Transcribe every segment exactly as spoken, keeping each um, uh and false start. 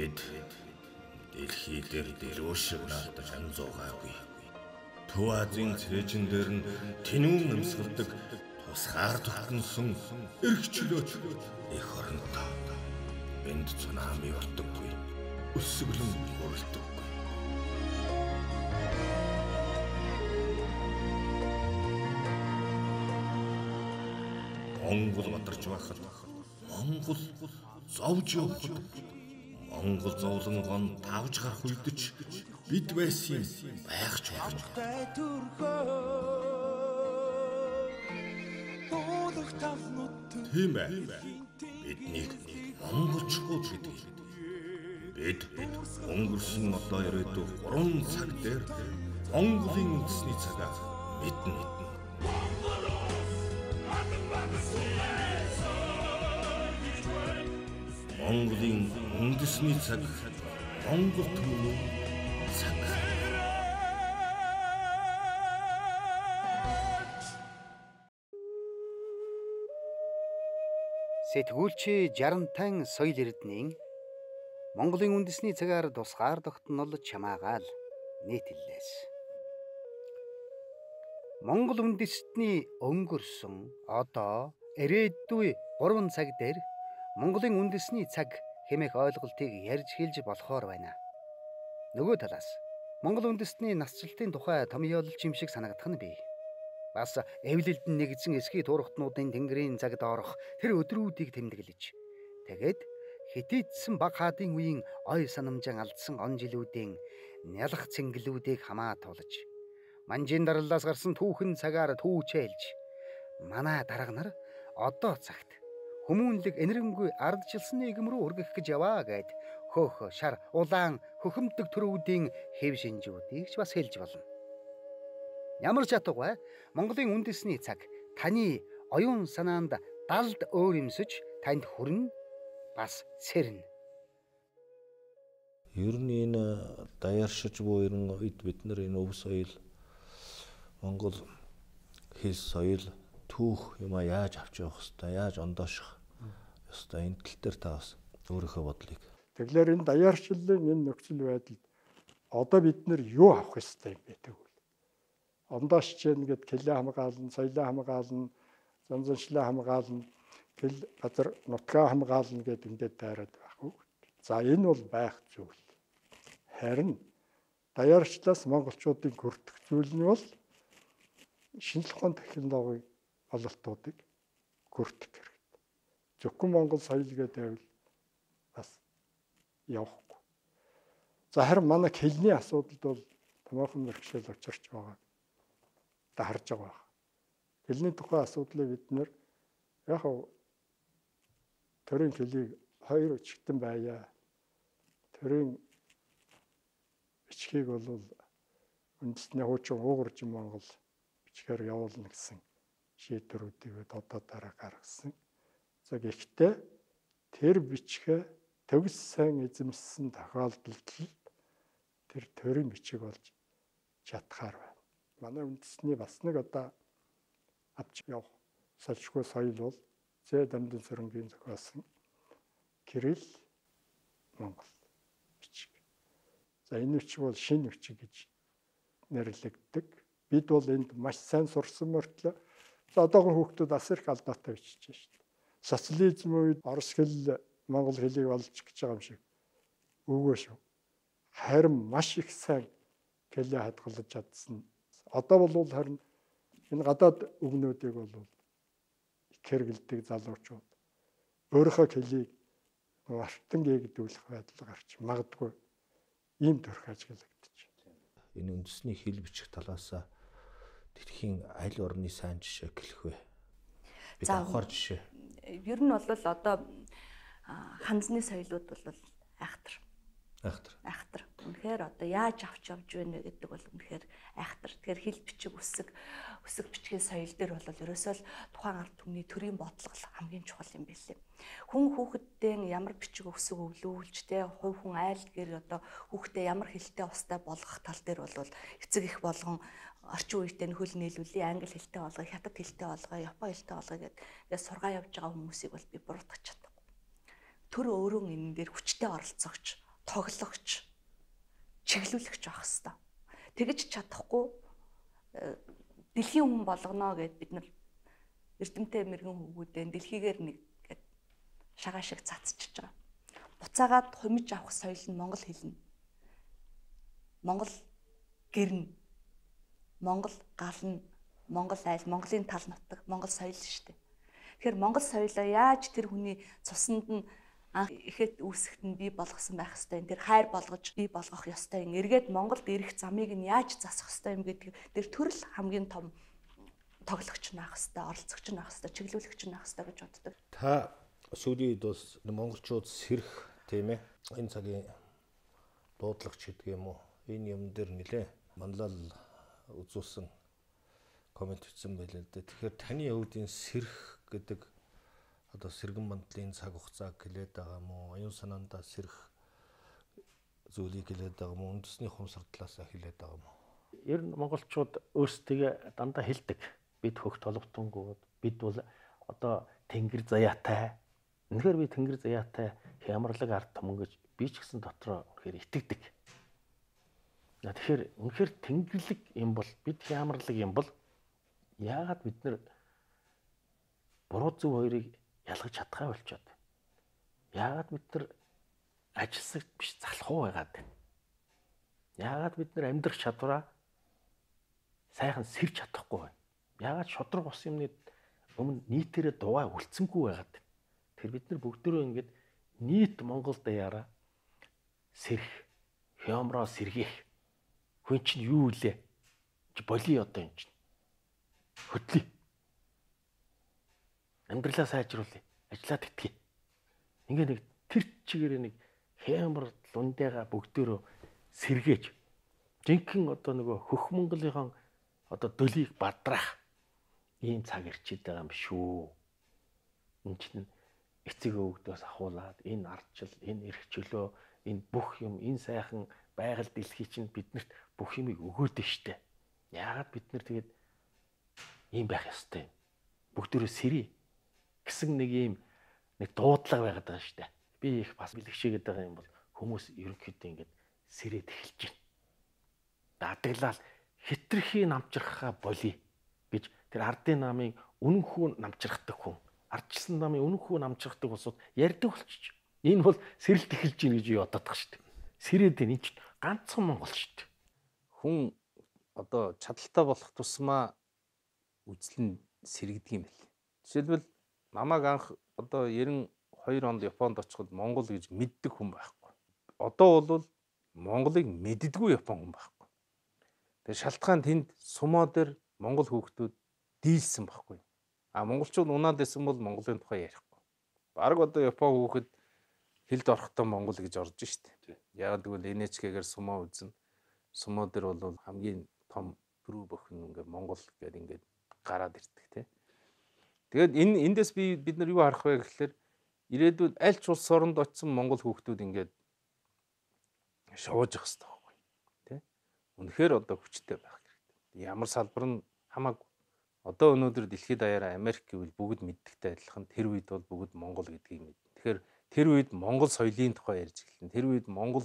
Бид дэлхий дээр дэлгүүр шиг наалтаж амзуугаагүй. Төв Азийн цээжин дээр нь тэнүүн амьсгалдаг тусгаар тогтносон эрхчлөөч их оронтой. Энд цунами болдоггүй. Өсөглөн уралдаггүй. Монгол модарч байхад Монгол зовж явахад Монгол зовлонгон тавж гарах үедч бид байсан байх ч болно. Тийм ээ. Биднийг монголчууд гэдэг. Бид өнгөрсөн одоо ирээдүйн гурван цаг дээр Монголын үндэсний цагаа мэднэ. Монголын үндэсний цаг, Монгол түмний цаг. Сэтгүүлчи Жарантан соёл эрдэнийн Монголын үндэсний цагаар тусгаар тогтнол чамаагаал нийтлэлээс. Монгол үндэстний өнгөрсөн одоо ирээдүй гурван цаг дээр Монголын үндэсний цаг хэмээх ойлголтыг ярьж хэлж болохоор байна. Нөгөө талаас Монгол үндэстний насжилтын тухай томьёолч юм шиг санагдах нь бий. Бас эвлэлд нэгдсэн эсхий туурхтнуудын тэнгэрийн цаг доорох тэр өдрүүдийг тэмдэглэж, тэгээд хитийдсэн баг хаадын үеийн ой санамжаан алдсан он жилүүдийн нялх цэнгэлүүдийг хамаа тулж, манжин дараллаас гарсан түүхэн цагаар түүчээлж, манай дарга нар одоо цагт хүмүүнлэг энэрэнгүй ардчилсан нийгэм рүү өргөх гэж яваа гэд хөөх, шар, улаан, хөхөмдөг төрүүдийн хэв шинжүүдийг ч бас хэлж болно. Ямар ч ятгавай Монголын үндэсний цаг таны оюун санаанд далд өөр юмсэж танд хүрнэ, бас сэрнэ. Ер нь энэ даяаршиж буй ерөн үед бид нар энэ өв соёл, Монгол хэл соёл, түүх юма яаж авч явах хэвээр, яаж ондооших ёстой, энэ тал дээр та бас өөрийнхөө бодлыг. Тэгэхээр энэ даяаршлын энэ нөхцөл байдалд одоо бид нар юу авах ёстой юм бэ тэгвэл? Ондоошч гэнэ гэд хэлээ хамгаална, соёлоо хамгаална, занзаншлаа хамгаална, гэл газар нутгаа хамгаална гэд ингээд дайраад байхгүй. За энэ бол байх зүйл. Харин даяарчлаас монголчуудын хүртэх зүйл нь бол шинжлэх ухааны технологийн ололтуудыг хүртэх хэрэгтэй. Зөвхөн монгол соёл гэдэг нь бас явахгүй. За харин манай хэлний асуудалд бол томоохон бэрхшээл учирч байгаа. Та харж байгаа. Хэлний тухай асуудлыг бид нэр яг төрийн хэлийг хоёр чигтэн байя. Төрийн бичгийг бол үндэсний хуучин уугуржин Монгол бичгээр явуулна гэсэн шийдвэрүүдийг одоо дараа гаргасан. За гэхдээ тэр бичгээ төгс сайн эзэмссэн тохиолдолд тэр төрийн бичиг болж чадхаар байна. Манай үндэсний бас нэг одоо авч явах салшгүй соёл бол Зэ Дамжин Сөрөнгийн зохиосон Кирилл Монгол бичиг. За энэ бичиг бол шинэ бичиг гэж нэрлэгддэг. Бид бол энд маш сайн сурсан мөртлөө одоогийн хүүхдүүд бас их алдаатай бичиж байна шүү дээ. Социализм үед орос хэл монгол хэлийг олж гэж байгаа юм шиг үгүй шүү. Харин маш их сайн хэлээ хадгалж чадсан. Одоо бол харин энэ гадаад үгнүүдийг бол хэрэгэлдэг залуучууд өөрийнхөө хэлийг артан гээгдүүлэх байдал гарч магадгүй ийм төрх ажиглагдаж байна. Энэ үндэсний хэл бичих талаас дэлхийн аль орны сайн жишээ гэлэх вэ? Бид авахар жишээ. Ер нь бол одоо ханзны соёлууд бол айхтар. Айхтар. Айхтар. Үнэхээр одоо яаж авч явж байна гэдэг бол үнэхээр айхтар. Тэгэхээр хэл бичиг үсэг үсэг бичгийн соёл дээр бол ерөөсөө л тухайн ард түмний төрийн бодлого хамгийн чухал юм байлээ. Хүн хүүхэдтэй ямар бичиг үсэг өвлүүлж тэ хувь хүн айл гэр одоо хүүхдээ ямар хэлтэй устай болгох тал дээр бол эцэг их болгон орчин үеийн хөл нийлүүлээ, англи хэлтэй болгоо, хятад хэлтэй болгоо, япон хэлтэй болгоо гэдэг ингээд сургаа явж байгаа хүмүүсийг бол би буруутгах чадахгүй. Төр өөрөө энэ дээр хүчтэй оролцоогч тоглогч, чиглүүлэгч байх хэвээр. Тэгэж чадахгүй дэлхийн хүн болгоно гэд бид нар эрдэмтэй мэрэгэн хүүгүүдэн дэлхийгээр нэг гэд шагаа шиг цацчихж байгаа. Буцаагаад хумиж авах соёл нь монгол хэлнэ. Монгол гэрнэ. Монгол гална. Монгол айл, Монголын тал нутаг, монгол соёл шүү дээ. Тэгэхээр монгол соёлоо яаж тэр хүний цуснд нь анх ихэд үүсгэхэд нь бий болгосон байх ёстой юм. Тэр хайр болгож бий болгох ёстой юм. Эргээд Монголд ирэх замыг нь яаж засах ёстой юм гэдэг тэр төрөл хамгийн том тоглогч нь байх ёстой, оролцогч нь байх ёстой, чиглүүлэгч нь байх ёстой гэж боддог. Та сүүлийн үед бас монголчууд сэрх тийм ээ. Энэ цагийн дуудлагч гэдэг юм уу? Энэ юм дээр нэлээ манлал үзүүлсэн коммент хийсэн байлаа л дээ. Тэгэхээр таны хувьд энэ сэрх гэдэг одоо сэргэн мандлын цаг хугацааг хэлээд байгаа юм уу? Оюун санаандаа сэрх зүйлийг хэлээд байгаа юм уу? Үндэсний хумсар талаасаа хэлээд байгаа юм уу? Ер нь монголчууд өөрсдөө дандаа хэлдэг. Бид хөх толготонгууд, бид бол одоо тэнгэр заяатай. Үнэхээр би тэнгэр заяатай хямралаг ард түмэн гэж би ч гэсэн дотроо үнэхээр итгэдэг. Тэгэхээр үнэхээр тэнгэрлэг юм бол бид хямралаг юм бол яагаад бид нар буруу зөв хоёрыг ялгаж чадхаа болчиход. Яагаад бид нар ажилсагт биш залхуу байгаад байна. Яагаад бид нар амьдрах чадвараа сайхан сэрж чадахгүй байна. Яагаад шодрог ус юмны өмнө нийтээрээ дугаа үлдсэнгүй байгаад байна. Тэр бид нар бүгдөө ингэж нийт Монгол даяараа сэрх, хямраа сэргийх. Хүн чинь юу илээ? Боли одоо юм чинь. Хөдлөе. Амьдралаа сайжруулъя. Ажлаа тэтгэе. Ингээ нэг тэр чигээр нэг хямар лундэга бүгдөө сэргээж жинхэнэ одоо нөгөө хөх Монголынхон одоо дөлийг бадраах ийм цаг ирчээд байгаа юм шүү. Энд чинь эцэг өвгдөөс ахуулаад энэ ардчил, энэ эрх чөлөө, энэ бүх юм, энэ сайхан байгаль дэлхий чинь биднэрт бүх юмыг өгөөд штэ. Яагаад бид нар тэгээд ийм байх ёстой юм. Бүгдөө сэрий гэсэн нэг ийм нэг дуудлага байгаад байгаа штэ. Би их бас бэлгшээгээд байгаа юм бол хүмүүс ерөнхийдөө ингэж сэрээд эхэлж байна. Дадаглал хитрхи намчрахаа болий гэж тэр ардын намын үнэнхүү намчрахдаг хүн, ардчилсан намын үнэнхүү намчрахдаг улсууд ярьдаг болчих. Энэ бол сэрэлт эхэлж гин гэж юу бодоод байгаа шүү дээ. Сэрээд энэ чинь ганцхан Монгол шүү дээ. Хүн одоо чадaltaй болох тусмаа үзэл нь сэрэгдэг юм байл. Жишээлбэл намайг анх одоо девяносто хоёр онд Японд очиход Монгол гэж мэддэг хүн байхгүй. Одоо бол Монголыг мэддэггүй Япон хүн байхгүй. Тэр шалтгаан тэнд сумоо дээр Монгол хүүхдүүд дийлсэн байхгүй. А монголчууд унаад байсан бол Монголын тухай ярихгүй. Бараг одоо Япон хүүхэд хэлд орохдоо Монгол гэж орж штэ. Яг тэгвэл эн эйч кей-гээр сумоо үзнэ. Сумоо дээр бол хамгийн том бүрүү бохин ингээ Монгол гэдэг ингээд гараад ирдэг тий. Тэгээд энэ эндээс би бид нар юу харах вэ гэхэлэр ирээдүйд аль ч улс оронд очисон Монгол хүүхдүүд ингээд шоож явах хэрэгтэй байхгүй тий. Үнэхээр одоо хүчтэй байх хэрэгтэй. Ямар салбар нь хамаагүй. Одоо өнөөдөр дэлхийд даяараа Америк гэвэл бүгд мэддэгтэй адилхан тэр үед бол бүгд Монгол гэдгийг мэд. Тэгэхээр тэр үед Монгол соёлын тухай ярьж эхэлнэ. Тэр үед Монгол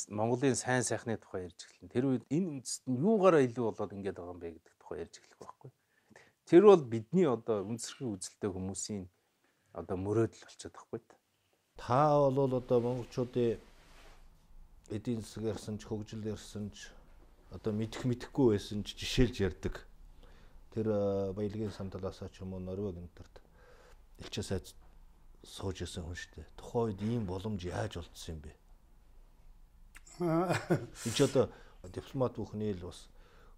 Монголын сайн сайхны тухай ярьж эхэлнэ. Тэр үед энэ үндэст нь юугаараа илүү болоод ингэж байгаа юм бэ гэдэг тухай ярьж эхлэх байхгүй. Тэр бол бидний одоо үндэсрийн үзэлтэй хүмүүсийн одоо мөрөөдөл болчиход байхгүй. Та бол одоо монголчуудын эдийн засаг ярьсан ч хөгжил ярьсан ч одоо мэдэх мэдэхгүй байсан ч жишээлж ярьдаг. Тэр баялагын самталаасаа ч юм уу Норвег энтерт элчээ сайд сууж исэн хүн шүү дээ. Тухайн үед ийм боломж яаж олдсон юм бэ? Энд ч одоо дипломат бүхний л бас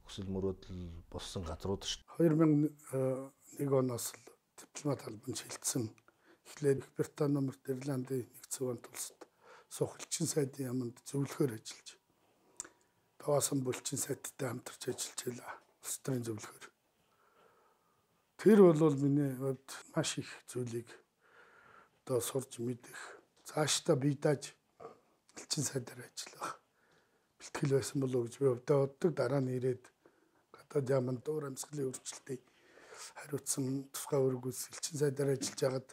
хүсэл мөрөөдөл болсон газрууд шүү дээ. хоёр мянган нэг оноос л дипломат албан шилжсэн. Эхлээд Их Британи, Номерт, Ирландын нэгдсэн улсад улсад суух элчин сайдын яамд зөвлөхөр ажиллаж. Таваасан булчин сайттай хамтарч ажиллаж байлаа. Улс төрийн зөвлөхөр. Тэр бол миний хувьд маш их зүйлийг одоо сурч мэдэх. Цаашдаа бие дааж элчин сайдаар ажиллах бэлтгэл байсан болов уу гэж би өвдөө боддог. Дараа нь ирээд гадаад яамд уур амьсгалын өөрчлөлтийг хариуцсан тусгай өргөс элчин сайдаар ажиллаж хагаад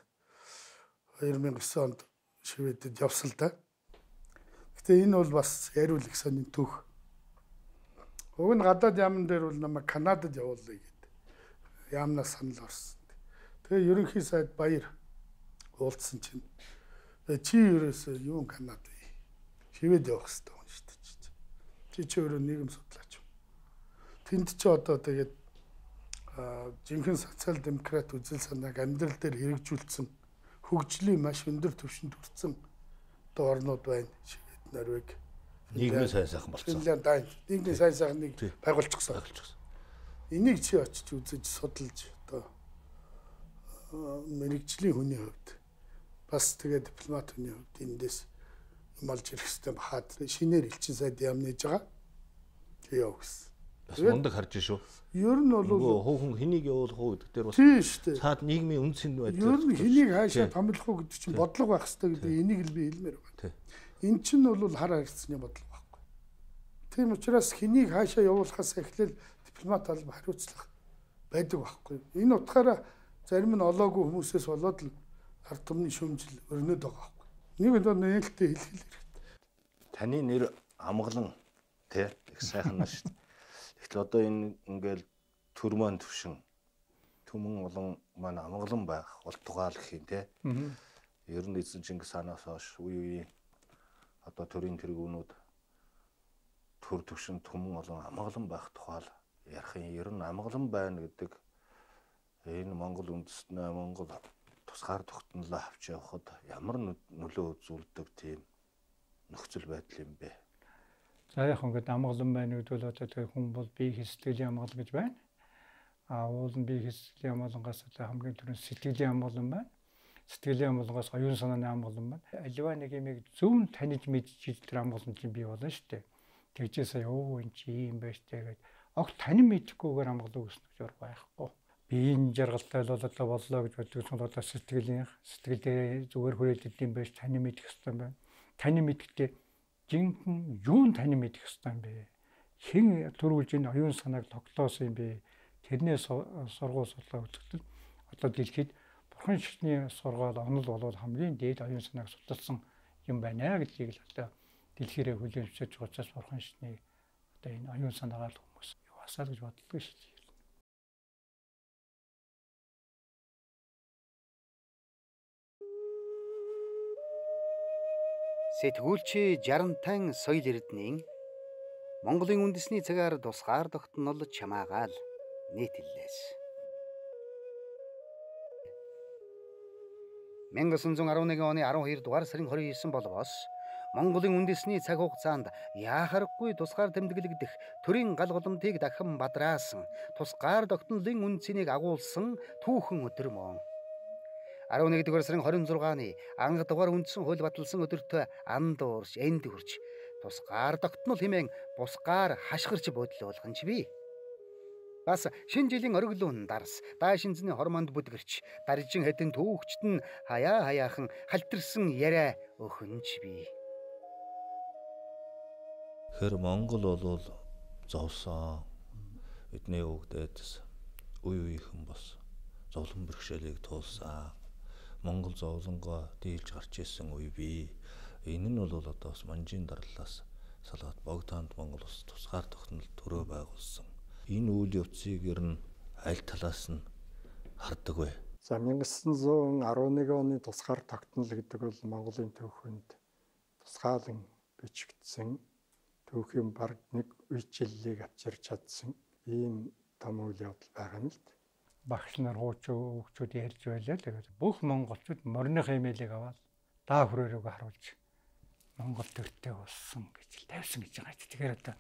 хоёр мянган девять онд Шведэд явсан л да. Гэтэ энэ бол бас яриул их сонин түүх. Уг нь гадаад яамн дээр бол намайг Канадад явуулъя гэдэг. Яамнаас санал орсон. Тэгээ ерөнхий сайд баяр уулзсан чинь чи ерөөсөө юу Канад вэ? Шивэд явах хэрэгтэй хүн шүү дээ. Чи чи өөрөө нийгэм судлаач юм. Тэнд чи одоо тэгээд жинхэнэ социал демократ үзэл санааг амьдрал дээр хэрэгжүүлсэн хөгжлийн маш өндөр түвшинд хүрсэн одоо орнууд байна. Швед, Норвеги, нийгмийн сайн сайхан болсон. Финлянд, Дани нийгмийн сайн сайхныг байгуулчихсан. Энийг чи очиж үзэж судалж одоо мэрэгжлийн хүний хувьд бас тэгээ дипломат хүний хувьд эндээс юм олж ирэх хэрэгтэй бахад шинээр элчин сайд яам нээж байгаа. Яа гэсэн. Бас мундаг харж шүү. Ер нь бол хөөхөн хэнийг явуулах уу гэдэг дээр бас тийм шүү дээ. Цаад нийгмийн үнцэн байдал. Ер нь хэнийг хаашаа томилох уу гэдэг чинь бодлого байх хэрэгтэй гэдэг энийг л би хэлмээр байна. Эн чинь бол хар харилцааны бодлого байхгүй. Тийм учраас хэнийг хаашаа явуулахаас эхлээл дипломат алба хариуцлах байдаг байхгүй. Энэ утгаараа зарим нь олоогүй хүмүүсээс болоод л ард түмний шүүмжил өрнөд байгаа байхгүй. Нэг л нээлттэй хэлхэл хэрэгтэй. Таны нэр амгалан тий их сайхан наа шүү дээ. Тэгтэл одоо энэ ингээл төр маань төвшин түмэн олон маань амгалан байх ултугаал гэх юм те. Ер нь эзэн Чингис хаанаас хойш үе үе одоо төрийн тэргүүнүүд төр төвшин түмэн олон амгалан байх тухай ярих юм. Ер нь амгалан байна гэдэг энэ Монгол үндэстнээ Монгол тусгаар тогтнолоо авч явахад ямар нөлөө үзүүлдэг тийм нөхцөл байдал юм бэ? За яг ингээд амгалан байна гэдэг бол одоо хүн бол бие сэтгэлийн амгалан гэж байна. А уул нь бие сэтгэлийн амгалангаас одоо хамгийн түрүүнд сэтгэлийн амгалан байна. Сэтгэлийн амгалангаас оюун санааны амгалан байна. Аливаа нэг юм зөв таниж мэдчихэж тэр амгалан чинь бий болно шүү дээ. Тэгжээсээ ёо энэ чи юм байна штэ гэдэг. Огт танин мэдхгүйгээр амгалан үүснэ гэж байхгүй. Биеийн жаргалтай л одоо боллоо гэж боддог нь одоо сэтгэлийн сэтгэлдээ зүгээр хүрээлэлт юм байж танин мэдэх хэрэгтэй байна. Танин мэдхдээ жинхэнэ юун тань мэдэх ёстой юм бэ? Хэн төрүүлж энэ оюун санааг тогтоосон юм бэ? Тэрнээс сургууль судлаа үзэхдээ одоо дэлхийд бурхан шигтний сургаал онол болоод хамгийн дээд оюун санааг судалсан юм байна гэдгийг л одоо дэлхийрээ хүлээмжшиж байгаа учраас бурхан шигтний одоо энэ оюун санаагаар хүмүүс юусаа гэж боддог шүү дээ. Сэтгүүлч Жарантан соёл эрдэнийн Монголын үндэсний цагаар тусгаар тогтнол чамаагаал нийтлэлээс мянга санаа зүүн арван нэгэн оны арван хоёр дугаар сарын хорин девять болвоос Монголын үндэсний цаг хугацаанд яахарахгүй тусгаар тэмдэглэгдэх төрийн гал голомтыг дахин бадраасан тусгаар тогтнолын үнцнийг агуулсан түүхэн өдөр мөн арван нэгдүгээр сарын хорин зургааны анх дугаар үндсэн хууль баталсан өдөртөө анд уурч энд хүрч тусгаар тогтнол хэмээн бусгаар хашгирч бодлуулган ч бий. Бас шинэ жилийн ориглуун дарс даашинзны хормонд бүдгэрч даржин хэдэн түүхчт нь хаяа хаяахан халтарсан яриа өхөнч бий. Хэр Монгол бол зовсон бидний өвгдөөс үе үеийнхэн бос зовлон бэрхшээлийг туулсан. Монгол зовлонгоо дийлж гарч ирсэн үе бий. Энэ нь бол одоо бас манжийн дарлалаас салгаад богдонд Монгол ус тусгаар тогтнол төрөө байгуулсан. Энэ үйл явцыг ер нь аль талаас нь хардаг вэ? За мянга санаа зүүн арван нэгэн оны тусгаар тогтнол гэдэг бол Монголын түүхэнд тусгаалan бичигдсэн түүхийн баг нэг үечлэлийг авчирч чадсан ийм том үйл явдал байгаа юм л да. Багш нар хуучин хүүхдүүд ярьж байлаа. Тэгээд бүх монголчууд морины хэмээлийг аваад даа хүрээрөөг харуулж Монгол төртэй болсон гэж тавьсан гэж байгаа. Тэгэхээр одоо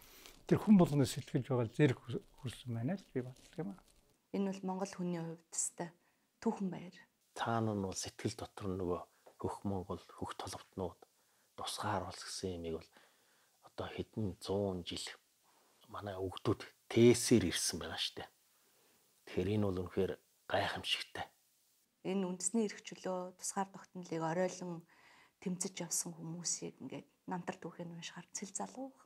тэр хүн болгоно сэтгэлж байгаа зэрэг хүрсэн байна л би боддог юм аа. Энэ бол монгол хүний хувьд тест түүхэн баяр. Цаана нь бол сэтгэл дотор нөгөө хөх Монгол хөх толготнууд тусгаар болсон гэсэн юмыг бол одоо хэдэн зуун жил манай өвгдүүд тээсээр ирсэн байгаа шүү дээ. Тэгэхээр энэ бол үнэхээр гайхамшигтай. Энэ үндэсний эрх чөлөө тусгаар тогтнолыг оройлон тэмцэж явсан хүмүүсийг ингээд намтар түүхийг уншихаар цэл залуух.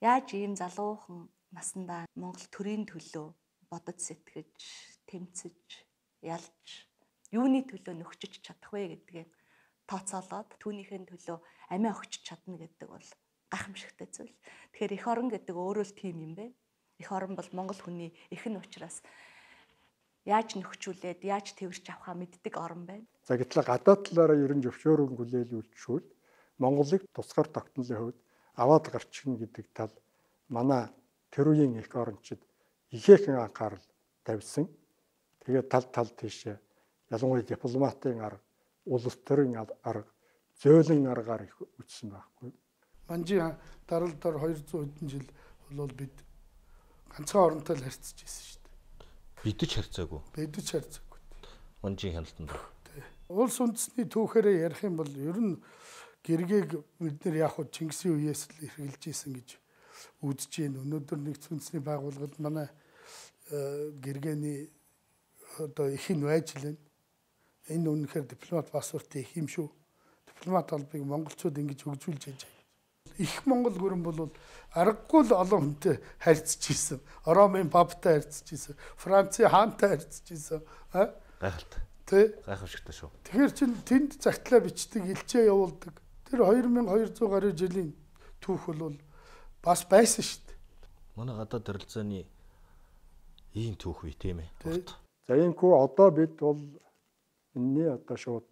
Яаж ийм залуухан насандаа Монгол төрийн төлөө бодож сэтгэж, тэмцэж, ялж, юуны төлөө нөхчиж чадах вэ гэдгийг тооцоолоод түүнийхээ төлөө амиа өгч чадна гэдэг бол гайхамшигтай зүйл. Тэгэхээр эх орон гэдэг өөрөө л тийм юм бэ. Эх орон бол Монгол хүний эхэн учраас яаж нөхчүүлээд яаж тэрвэрч авахаа мэддэг орон байна. За гэтэл гадаад талаараа ерөн зөвшөөрөн хүлээлүүлчихвэл Монголыг тусгаар тогтнолын хувьд аваад гарчихна гэдэг тал манай тэр үеийн эх орончид ихээхэн анхаарал тавьсан. Тэгээд тал тал тийшээ ялангуяа дипломатын арга, улс төрийн арга, зөөлөн аргаар их үтсэн байхгүй. Манжи дарал дор двести хэдэн жил бол бид ганцхан оронтой л харьцаж ирсэн шүү дээ. Бидэж харьцаагүй. Бидэж харьцаагүй. Манжийн хяналтанд. Улс үндэсний түүхээрээ ярих юм бол ер нь гэргээг бид нэр яг хуу Чингисийн үеэс л эргэлж ийсэн гэж үзэж байна. Өнөөдөр нэгдсэн үндэсний байгууллагад манай гэргээний одоо их нь байж лэн. Энэ үнэхээр дипломат паспортын их юм шүү. Дипломат албыг монголчууд ингэж хөгжүүлж яаж. Их Монгол гүрэн бол аргагүй л олон хүнтэй харьцаж ийсэн. Ромын паптай харьцаж ийсэн. Францын хаантай харьцаж ийсэн. Аа? Гайхалтай. Тэ? Гайхамшигтай шүү. Тэгэхээр чин тэнд загтлаа бичдэг, илчээ явуулдаг. Тэр two thousand two hundred гаруй жилийн түүх бол бас байсан шүү дээ. Манай гадаад харилцааны ийм түүх бий тийм ээ. За иймгүй одоо бид бол энэний одоо шууд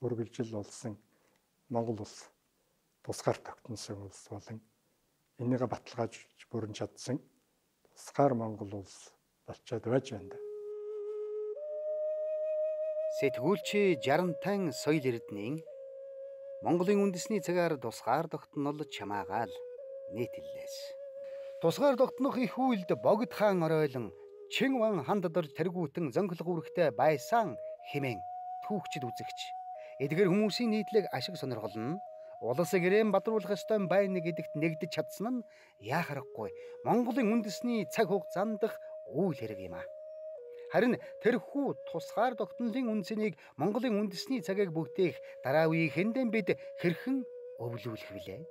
үргэлжил болсон Монгол улс тусгаар тогтносон улс болон энийгээ баталгааж бүрэн чадсан тусгаар Монгол улс болчиход байж байна. Сэтгүүлч Жарантан соёл эрдэнийн Монголын үндэсний цагаар тусгаар тогтнол чамаагаал нийтлэлээс. Тусгаар тогтнох их үйлд богд хаан оройлон Чин ван ханд дорж тэргүүтэн зөнхлөх үүрэгтэй байсан хэмээн түүхчид үзэгч. Эдгээр хүмүүсийн нийтлэг ашиг сонирхол нь улс гэрээн бадруулах ёстой байна гэдэгт нэгдэж чадсан нь яахарахгүй Монголын үндэсний цаг хугацаанд дах үйл хэрэг юм а. Харин тэрхүү тусгаар тогтнолын үндсэнийг Монголын үндэсний цагийг бүгдээх дараа үеийн хэндэн бид хэрхэн өвлүүлэх вүлээ?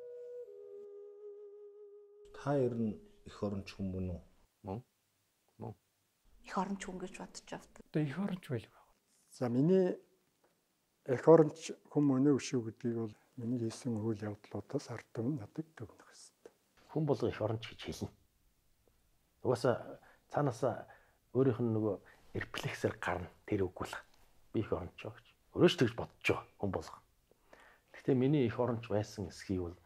Та ер нь эх оронч хүмүүс үү? Мөн. Мөн. Эх оронч хүн гэж бодож авдаг. Одоо эх оронч байл. За миний эх оронч хүмүүнээ өшөө гэдгийг бол миний хийсэн үйл явдлуудаас ард түмэн надад дүгнэх хэрэгтэй. Хүн болго эх оронч гэж хэлнэ. Угаасаа цаанаасаа өөрийнх нь нөгөө рефлексээр гарна тэр үггүй л. Би эх оронч гэж. Өөрөөч тэгж бодож байгаа хүн болго. Гэхдээ миний эх оронч байсан эсхийг бол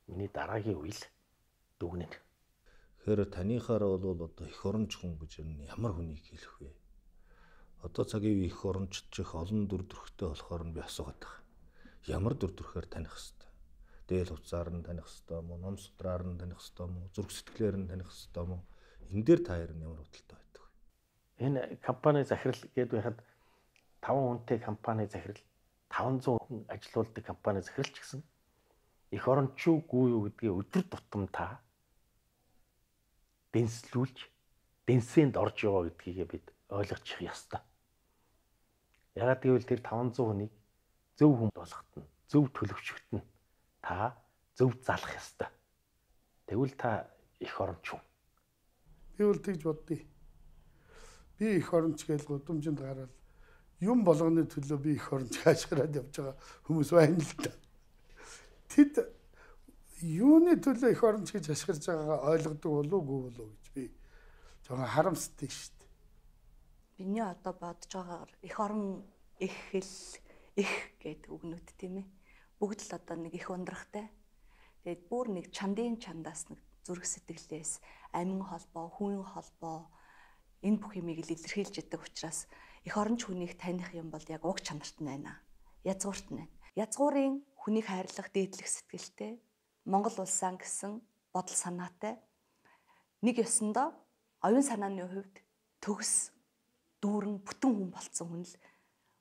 миний дараагийн үйл дүгнэнэ. Тэгэхээр таныхаараа бол одоо эх оронч хүн гэж ямар хүнийг хэлэх вэ? Одоо цагийн үе эх орончд чих олон дүр төрхтэй болохоор нь би асуугаад байгаа. Ямар дүр төрхөөр таних хэвээр? Дээл хувцаар нь таних хэвээр мó, ном судраар нь таних хэвээр мó, зүрх сэтгэлээр нь таних хэвээр мó. Энэ дээр та хоёр нь ямар бодолтой байдаг вэ? Энэ компани захирал гэдэг байхад таван хүнтэй компани захирал, таван зуун хүн ажилуулдаг компани захирал ч гэсэн эх орончгүй юу гэдгийг өдөр тутам та дэнслүүлж, дэнсэнд орж яваа гэдгийг бид ойлгочих ёстой. Ягаад гэвэл тэр таван зуун хүнийг зөв хүн болгоход нь, зөв төлөвчөгт нь та зөв залах ёстой. Тэгвэл та эх оронч хүн. Би бол тэгж боддё. Би эх оронч гэж гудамжинд гараад юм болгоны төлөө би эх оронч хаашгираад явж байгаа хүмүүс байна л да. Тэд юуны төлөө эх оронч гэж ашиглаж байгаагаа ойлгодог болов уу болов гэж би жоохон харамсдаг шүү дээ. Биний одоо бодож байгаагаар эх орон, эх хэл, эх гэдэг үгнүүд тийм ээ. Бүгд л одоо нэг их ундрахтай. Тэгээд бүр нэг чандын чандаас нэг зүрх сэтгэлээс амин холбоо, хүн холбоо энэ бүх юмыг л илэрхийлж яддаг учраас эх оронч хүнийг таних юм бол яг уг чанарт нь байна. Язгуурт нь байна. Язгуурын хүнийг хайрлах дээдлэх сэтгэлтэй Монгол улсаа гэсэн бодол санаатай нэг ёсондоо оюун санааны хувьд төгс дүүрэн бүтэн хүн болсон хүн л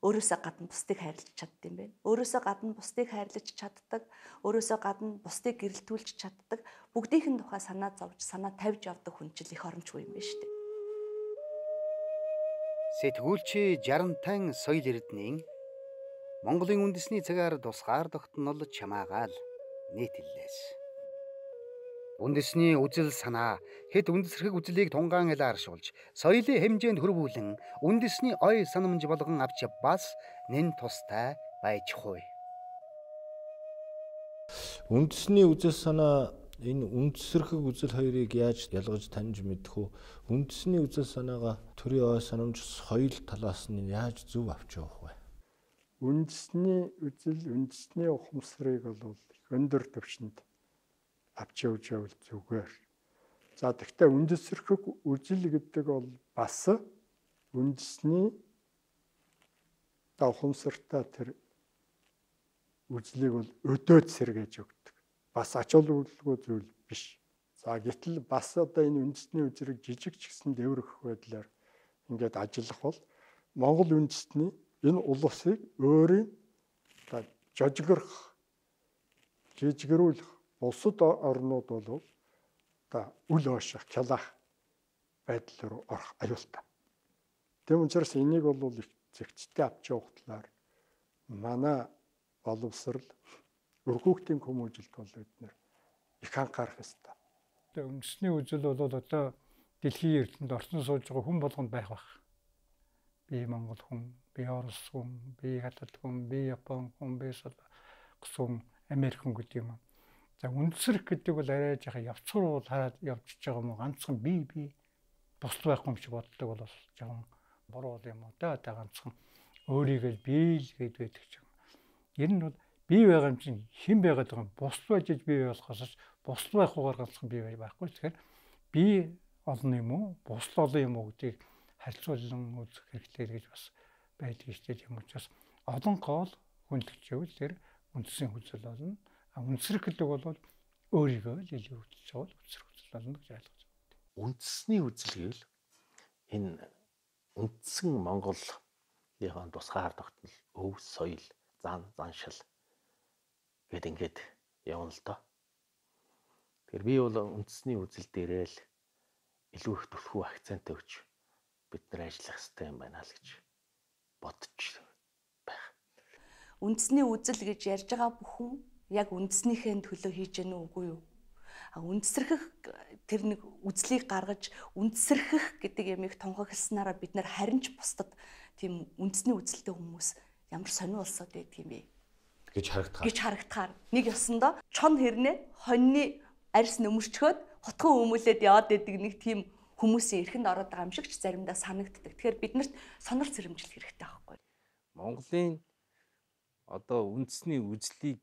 өөрөөсөө гадна бусдыг хайрлаж чаддаг юм байна. Өөрөөсөө гадна бусдыг хайрлаж чаддаг, өөрөөсөө гадна бусдыг гэрэлтүүлж чаддаг, бүгдийнхэн тухай санаа зовж, санаа тавьж явдаг хүн чил эх орончгүй юм байна шүү дээ. Сэтгүүлч Жарантан соёл эрдэнийн Монголын үндэсний цагаар тусгаар тогтнол чамаагаал нийтлэлээс. Үндэсний үзэл санаа хэд үндэсрэх үзлийг тунгаан ялааршуулж, соёлын хэмжээнд хөрвүүлэн үндэсний ой санамж болгон авч бас нэн тустай байж хуй. Үндэсний үзэл санаа энэ үндсэрхэг үзэл хоёрыг яаж ялгаж таньж мэдэх үү? Үндэсний үзэл санаагаа төрийн ой санамж соёл талаас нь яаж зөв авч явах вэ? Үндэсний үзэл, үндэсний ухамсарыг бол их өндөр түвшинд авч явж явал зүгээр. За тэгвэл үндэсэрхэг үзэл гэдэг бол бас үндэсний ухамсартай тэр үзлийг бол өдөөд сэргээж өгдөг. Бас ач холбогдолгүй зүйл биш. За гэтэл бас одоо энэ үндэсний үзрэг жижиг ч гэсэн дэврэх байдлаар ингээд ажиллах бол Монгол үндэстний энэ улсыг өөрийн жожигрох, жижигрүүлэх улсад орнууд бол одоо үл ооших, кялах байдал руу орох аюултай. Тэм учраас энийг бол их зэгцтэй авч явах талаар манай боловсрал өргөөхтийн хүмүүжилт бол бид нэр их анхаарах ёстой. Тэгээ үндэсний үзэл бол одоо дэлхийн эрдэнэд орсон сууж байгаа хүн болгонд байх бах. Би Монгол хүн, би Орос хүн, би Хятад хүн, би Япон хүн, би Солонгос хүн, Америк хүн гэдэг юм. За үндсэрх гэдэг бол арай жаахан явцруу хараад явчихж байгаа юм уу? Ганцхан би би босд байхгүй юм шиг боддог бол жаахан буруу юм уу? Одоо ганцхан өөрийгөө би л гээд байдаг ч юм. Ер нь бол бий байгаа юм чинь хэн байгаад байгаа юм? Босд байж бий болохоос босд байхгүйгээр ганцхан бий байхгүй. Тэгэхээр би олон юм уу? Босд олон юм уу гэдгийг харьцуулан үзэх хэрэгтэй гэж бас байдаг шүү дээ. Тийм учраас олон гол хүндэлж явал тэр үндсэн үзэл болно. А үндсэрх гэдэг бол өөрийгөө л илүү үзэж байгаа бол үндсэрх үзэл болно гэж ойлгож байна. Үндэсний үзэл гэвэл энэ үндсэн Монголынхаа тусгаар тогтнол, өв, соёл, зан, заншил гэд ингээд явна л доо. Тэгэхээр би бол үндэсний үзэл дээрээ л илүү их түлхүү акцент өгч бид нар ажиллах хэрэгтэй юм байна л гэж бодож байх. Үндэсний үзэл гэж ярьж байгаа бүхэн яг үндэснийхээ төлөө хийж гэнэ үгүй юу? А үндсэрхэх тэр нэг үзлийг гаргаж үндсэрхэх гэдэг ямиг тунхагласнараа бид нар харин ч бусдад тийм үндэсний үзэлтэй хүмүүс ямар сонио улсууд байдаг юм бэ гэж харагдахаар. гэж харагдахаар нэг ёсондоо чон хэрнээ хоньны арьс нөмөрчгөөд хотхон өмүүлээд яваад байдаг нэг тийм хүмүүсийн эрхэнд ороод байгаа юм шиг ч заримдаа санагддаг. Тэгэхээр биднэрт сонор зэрэмжлэх хэрэгтэй байхгүй. Монголын одоо үндэсний үзлийг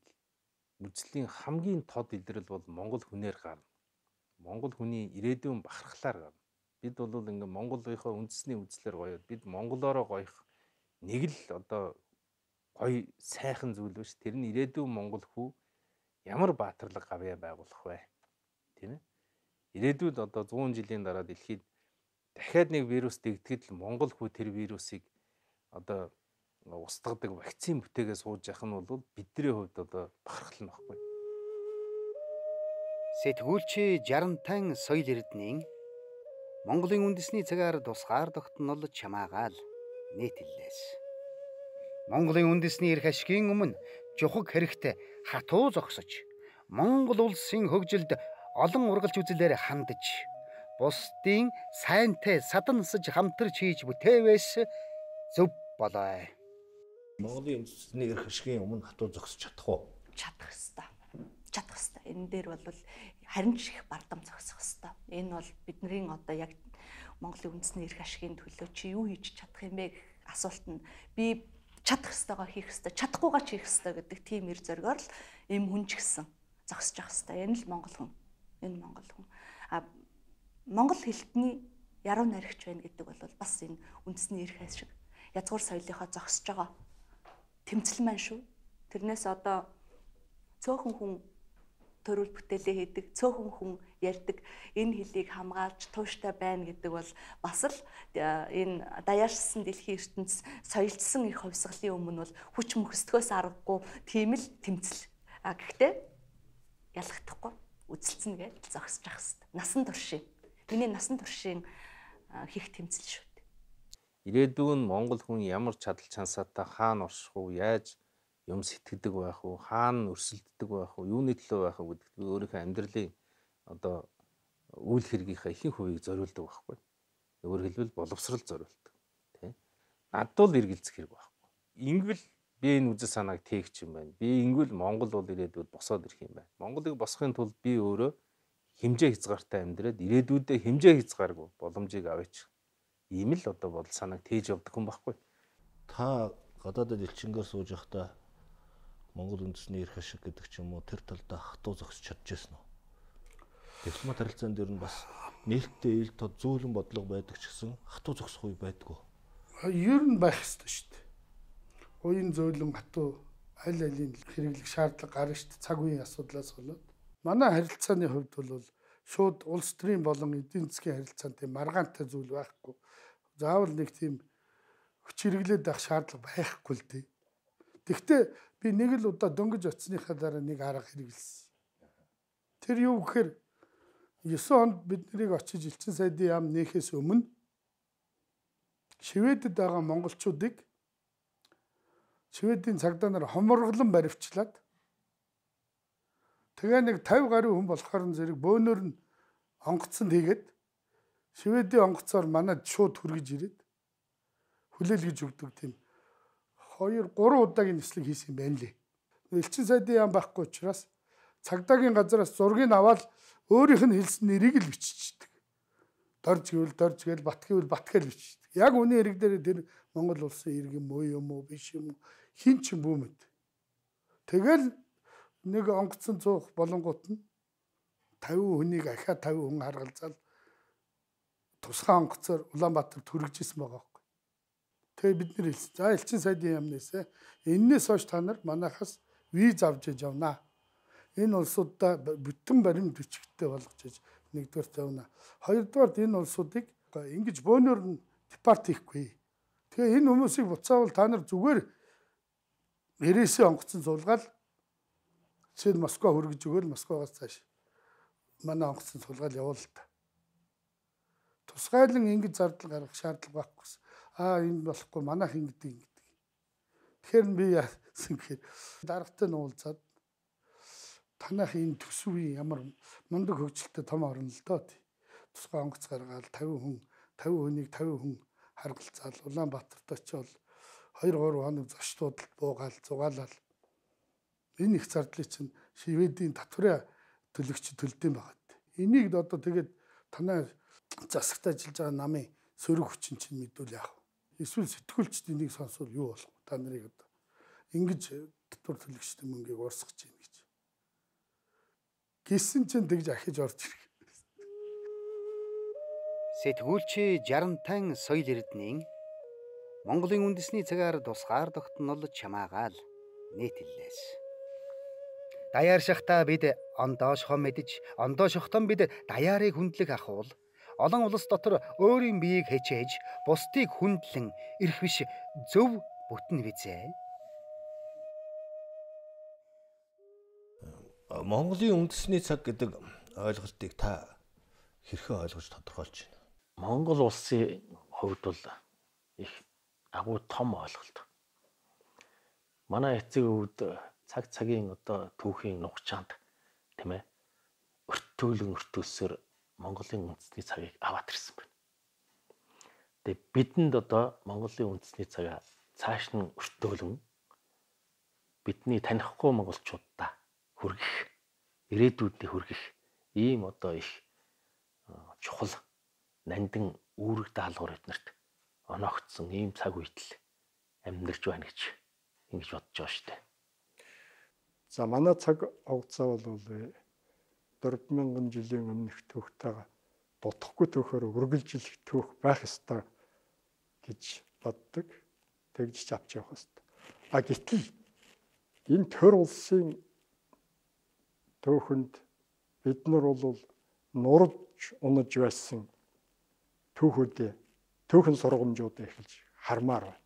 үзлийн хамгийн тод илрэл бол монгол хүнээр гарна. Монгол хүний ирээдүйн бахархлаар гарна. Бид бол ингээм Монголынхоо үндэсний үзлээр гоёод бид монголоороо гоёх нэг л одоо гоё сайхан зүйл биш. Тэр нь ирээдүйн монгол хүү ямар баатарлаг гавьяа байгуулах вэ? Тийм ээ. Ирээдүйд одоо зуун жилийн дараа дэлхийд дахиад нэг вирус дэгдэхэд л монгол хүү тэр вирусыг одоо устгадаг вакцин бүтээгээ сууж явах нь бол бидний хувьд одоо бахархал нь баггүй. Сэтгүүлч Жарантан соёл эрдэнийн Монголын үндэсний цагаар тусгаар тогтнол чамаагаал нийтлэлээс. Монголын үндэсний эрх ашигын өмнө жухаг хэрэгт хатуу зогсож, Монгол улсын хөгжилд олон ургалж үзлээр хандаж, бусдын сайнтай садансаж хамтарч хийж бүтээвээс зөв болоо. Монголын үндэсний эрх ашигын өмнө хатуу зогсож чадах уу? Чадах ёстой. Чадах ёстой. Энэ дээр бол харин ч их бардам зогсох ёстой. Энэ бол бидний одоо яг Монголын үндэсний эрх ашигын төлөө чи юу хийж чадах юм бэ гэх асуулт нь би чадах ёстойгоо хийх ёстой, чадахгүйгаа ч хийх ёстой гэдэг тийм эр зоригоор л им хүн ч гэсэн зогсож явах ёстой. Энэ л монгол хүн. Энэ монгол хүн. А монгол хэлтний яруу найрагч байна гэдэг бол бас энэ үндэсний эрх ашиг язгуур соёлынхоо зогсож байгаа тэмцэл маань шүү. Тэрнээс одоо цөөхөн хүн төрөл бүтээлээ хийдэг, цөөхөн хүн ярьдаг, энэ хэлийг хамгаалж тууштай байна гэдэг бол бас л энэ даяаршсан дэлхийн ертөнц соёлцсон их хувьсгалын өмнө бол хүч мөхсдгөөс аргагүй тийм л тэмцэл. А гэхдээ ялгахдахгүй үзэлцэн гэж зогсож явах хэрэгтэй. Насан туршийн. Миний насан туршийн хийх тэмцэл шүү. Ирээдүйн монгол хүн ямар чадал чансаатай хаана орших уу, яаж юм сэтгэдэг байх уу, хаана өрсөлддөг байх уу, юуны төлөө байх уу гэдэгт би өөрийнхөө амьдралын одоо үйл хэргийнхаа ихэнх хувийг зориулдаг байхгүй. Өөрөөр хэлбэл боловсрал зориулдаг. Тэ. Надад л эргэлзэх хэрэг байхгүй. Ингэвэл би энэ үзэл санааг тээгч юм байна. Би ингэвэл Монгол бол ирээдүйд босоод ирэх юм байна. Монголыг босохын тулд би өөрөө хэмжээ хязгаартай амьдраад ирээдүйдээ хэмжээ хязгааргүй боломжийг аваач. Ийм л одоо бодол санааг тээж явдаг хүн байхгүй. Та гадаадд элчингээр сууж байхдаа Монгол үндэсний эрх ашиг гэдэг ч юм уу тэр талдаа хатуу зогсож чадчихсан уу? Дипломат харилцаанд дэр нь бас нээлттэй ил тод зөөлөн бодлого байдаг ч гэсэн хатуу зогсох үе байдгүй. Ер нь байх ёстой шүү дээ. Уян зөөлөн хатуу аль алийн хэрэглэх шаардлага гарна шүү дээ. Цаг үеийн асуудлаас болоод. Манай харилцааны хувьд бол шууд улс төрийн болон эдийн засгийн харилцаанд тийм маргаантай зүйл байхгүй. Заавал нэг тийм хүч хэрэглээд байх шаардлага байхгүй л дээ. Тэгвэл би нэг л удаа дөнгөж оцсныхаа дараа нэг арга хэрэгэлсэн. Тэр юу гэхээр есен онд бид нарыг очиж Элчин сайдын яам нээхээс өмнө Шведэд байгаа монголчуудыг Шведийн цагдаа нар хоморглон баривчлаад тэгээ нэг тавь гаруй хүн болохоор зэрэг бөөнөр нь онгоцонд хийгээд Шведийн онгоцоор манад шууд хүргэж ирээд хүлээлгэж өгдөг тийм хоёр гурван удаагийн нислэг хийсэн юм байна лээ. Элчин сайдын яам байхгүй учраас цагдаагийн газараас зургийг аваад өөрийнх нь хэлсэн нэрийг л биччихдэг. Дорж гэвэл дорж гээл бат гэвэл бат гээл биччихдэг. Яг үний хэрэг дээр тэр Монгол улсын иргэн юм уу юм уу биш юм уу хин ч юм бүү мэд. Тэгэл нэг онгоцон цуух болонгууд нь тавь хүнийг ахаа тавь хүн харгалзаал тусгай онгоцоор Улаанбаатар түргэж исэн байгаа байхгүй. Тэгээ бид нэр хэлсэн. За Элчин сайдын яамнасаа эннээс хойш та нар манайхаас виз авч яж явнаа. Энэ улсуудаа бүтэн баримт бичгтээ болгож нэгдүгээр тавина. Хоёрдугаар энэ улсуудыг ингэж бөөнөр нь депорт хийхгүй. Тэгээ энэ хүмүүсийг буцаавал та нар зүгээр нэрээсээ онгоцон суулгаад жишээ нь Москва хүргэж өгөөл Москвагаас цааш манай онгоцон суулгаад явуул та. Тусгайлан ингэж зардал гаргах шаардлага байхгүй. Аа энэ болохгүй манайх ингэдэг ингэдэг. Тэгэхээр би яасан гэхээр даргатай нуулзаад танах энэ төсвийн ямар мундаг хөгжилтэй том орно л доо. Тусгай онгоц гаргаад тавь хүн тавь хүнийг тавь хүн харгалзаал Улаанбаатарт очивол хоёр гурван хоног зочдод буугаал зугаалал энэ их зардлыг чинь Шведийн татврын төлөгч төлдөм байгаа. Энийг одоо тэгээд танай засагт ажиллаж байгаа намын сөрөг хүчин чинь мэдүүл яах вэ? Эсвэл сэтгүүлчд энийг сонсвол юу болох вэ? Та нарыг одоо ингэж татвар төлөгчдийн мөнгийг урсгаж байна гэж. Гисэн чинь тэгж ахиж орж ирэх. Сэтгүүлч Жарантан соёл эрдэнийн Монголын үндэсний цагаар тусгаар тогтнол чамаагаал нийтлэлээс. Даяар шахтаа бид ондоошхоо мэдж, ондоошхтон бид даяарыг хүндлэх ахвал олон улс дотор өөрийн биеийг хечээж, бусдыг хүндлэн ирэх биш зөв бүтэн визээ. Монголын үндэсний цаг гэдэг ойлголтыг та хэрхэн ойлгож тодорхойлж байна? Монгол улсын хувьд бол их агуу том ойлголт. Манай эцэг өвд цаг цагийн одоо түүхийн нухчаанд тийм ээ өртөөлөн өртөөсөр Монголын үндэсний цагийг аваад ирсэн байна. Тэгээ бидэнд одоо Монголын үндэсний цагаа цааш нь өртөөлөн бидний танихгүй монголчуудаа хүргэх, ирээдүйдээ хүргэх ийм одоо их чухал нандин үүрэг даалгавар эднэрт оногдсон ийм цаг үед л амьдарч байна гэж ингэж бодож байгаа шүү дээ. За манай цаг хугацаа бол дөрвөн мянган жилийн өмнөх түүхтэйгээ дутхгүй түүхээр үргэлжлэх түүх байх ёстой гэж боддог. Тэгж авч явах ёстой. А гэтэл энэ төр улсын түүхэнд бид нар бол нурж унаж байсан түүхүүдээ түүхэн сургамжуудыг эхэлж хармаар байна.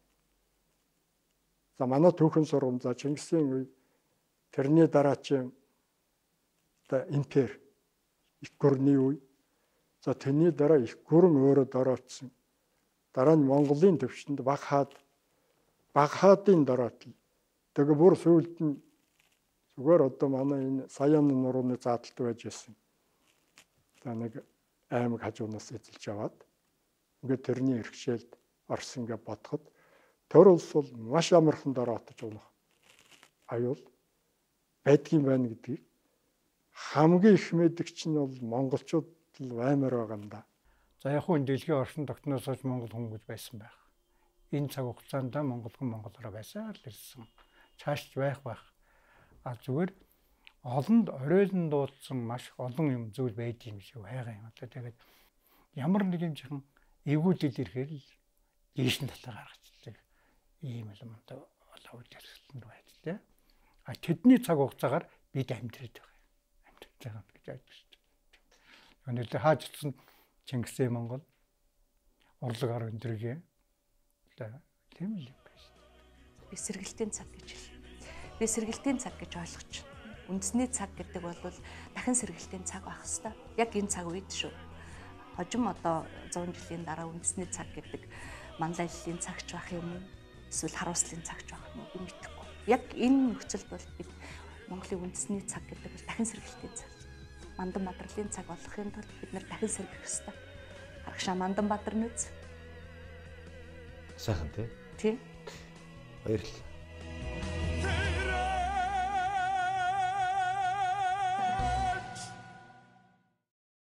За манай түүхэн сургамж за Чингисийн үе тэрний дараачийн та импер их гүрний үе. За тэрний дараа их гүрэн өөрөө дороотсон. Дараа нь Монголын төвшөнд баг хаад баг хаадын дороот. Тэгээ бүр сүүлд нь зүгээр одоо манай энэ Саян нурууны заалтад байж байсан. За нэг аймаг хажуунаас эзэлж аваад ингээд тэрний иргэшээлд орсон гэж бодоход төр улс бол маш амархан дороотож унах аюул байдгийн байна гэдгийг хамгийн их мэдгч нь бол монголчууд л баймаар байгаа юм да. За яг хүн дэлхийн оршин тогтноос хойш Монгол хүн гэж байсан байх. Энэ цаг хугацаанд Монгол хүн Монголоор байсан л ирсэн. Цааш байх байх. А зүгээр олонд оройлон дуудсан маш олон юм зүйл байдаг юм шиг хайгаа юм. Одоо тэгээд ямар нэг юм чихэн эвгүүдэл ирэхээр л дээш нь талаар гаргацдаг. Ийм юм одоо олоо үйлчлэлтэнд байдаг тийм. А тэдний цаг хугацаагаар бид амьдрээд байгаа. Амьдраад байгаа гэж ойлгож шүү дээ. Өнөөдөр хааж утсан Чингисийн Монгол урлаг ар өндрөгийн тийм л юм байна шүү дээ. Би сэргэлтийн цаг гэж хэл. Би сэргэлтийн цаг гэж ойлгож байна. Үндэсний цаг гэдэг бол дахин сэргэлтийн цаг байх хэвээр. Яг энэ цаг үед шүү. Хожим одоо зуун жилийн дараа үндэсний цаг гэдэг манлайллын цагч байх юм уу? Эсвэл харуулслын цагч байх юм уу? Би мэдэхгүй. Яг энэ нөхцөлд бол бид Монголын үндэсний цаг гэдэг бол дахин сэргэлтийн цаг. Мандан Баатарлын цаг болохын тулд бид нэр дахин сэргэх ёстой. Харагшаа Мандан Баатар нүц. Сайхан тий. Тий. Баярлалаа.